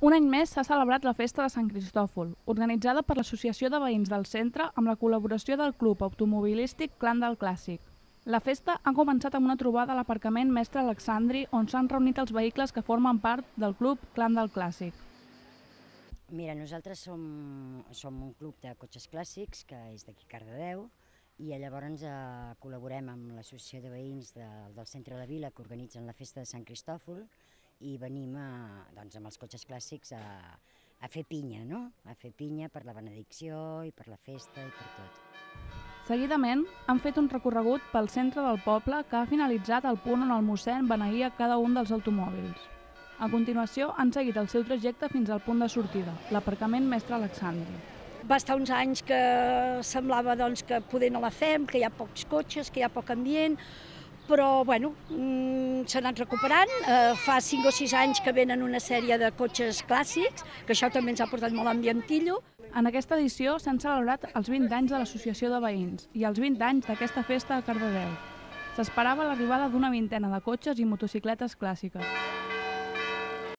Un any més s'ha celebrat la Festa de Sant Cristòfol, organitzada per l'Associació de Veïns del Centre amb la col·laboració del Club Automobilístic Clan del Clàssic. La festa ha començat amb una trobada a l'aparcament Mestre Alexandri, on s'han reunit els vehicles que formen part del Club Clan del Clàssic. Mira, nosaltres som un club de cotxes clàssics que és d'aquí Cardedeu i llavors col·laborem amb l'Associació de Veïns del Centre de la Vila que organitzen la Festa de Sant Cristòfol i venim doncs, amb els cotxes clàssics a fer pinya, no? A fer pinya per la benedicció i per la festa i per tot. Seguidament, han fet un recorregut pel centre del poble que ha finalitzat al punt on el mossèn beneïa cada un dels automòbils. A continuació, han seguit el seu trajecte fins al punt de sortida, l'aparcament Mestre Alexandri. Va estar uns anys que semblava doncs, que poder no la fem, que hi ha pocs cotxes, que hi ha poc ambient, però bueno, s'ha anat recuperant. Fa 5 o 6 anys que venen una sèrie de cotxes clàssics, que això també ens ha portat molt ambientillo. En aquesta edició s'han celebrat els 20 anys de l'Associació de Veïns i els 20 anys d'aquesta festa a Cardedeu. S'esperava l'arribada d'una vintena de cotxes i motocicletes clàssiques.